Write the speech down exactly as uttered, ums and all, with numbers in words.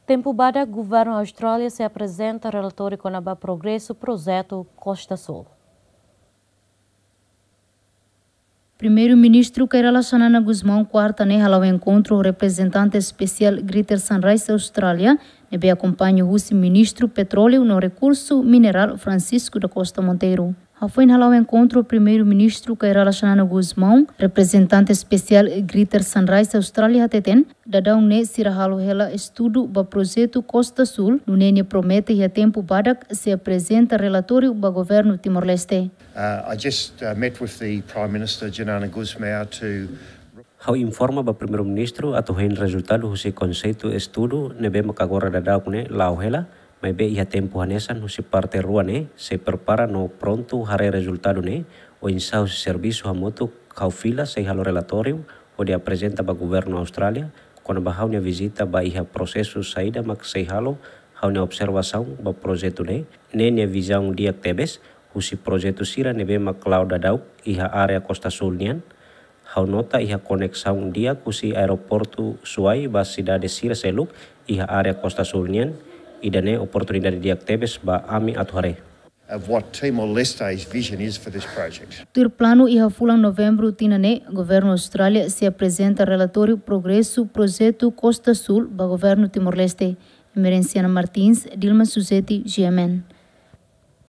Tempu badak, Governu Austrália sei aprezenta relatóriu kona-ba progresu projetu Costa Sul. Primeiru-Ministru Kay Rala Xanana Gusmão, kuarta ne'e, hala'o enkontru ho reprezentante espesiál Greater Sunrise Australia, ne'ebé akompaña husi Ministru Petróleu no Rekursu Minerál Francisco da Costa Monteiro. Hafoin hala'o enkontru, Primeiru-Ministru Kay Rala Xanana Gusmão, reprezentante espesiál Greater Sunrise Australia hateten, daudaun ne'e sira halo hela estudu ba projetu Costa Sul, nune'e nia promete iha tempu badak sei aprezenta relatóriu ba Governu Timor-Leste. Uh, I just, uh, met with the Prime Minister, Xanana Gusmão, to Ha'u informa ba Primeiru-Ministru atu hein rezultadu husi konseitu estudu ne'ebé mak agora daudaun ne'e la'o hela, maibé iha tempu hanesan husi parte rua ne'e sei prepara no prontu haree rezultadu ne'e, oinsá husi servisu hamutuk ha'u fila sei halo relatóriu hodi aprezenta ba Governu Austrália, kona-ba ha'u-nia vizita ba iha prosesu saida mak sei halo ha'u-nia observasaun ba projetu ne'e, ne'e nia vizaun di'ak tebes husi projetu sira ne'ebé mak la'o daudaun iha área Costa Sul nian. Ha'u nota iha koneksaun di'ak husi aeroportu Suai ba sidade sira seluk iha área Costa Sul nian, ida-ne'e oportunidade di'ak tebes ba ami atu haree. Of what Timor-Leste's vision is for this project. Tuir planu, iha fulan Novembru tinan ne'e, Governu Austrália sei aprezenta relatóriu progresu projetu Costa Sul ba Governu Timor-Leste. Emerenciana Martins, Dilma Suzeti, G M N.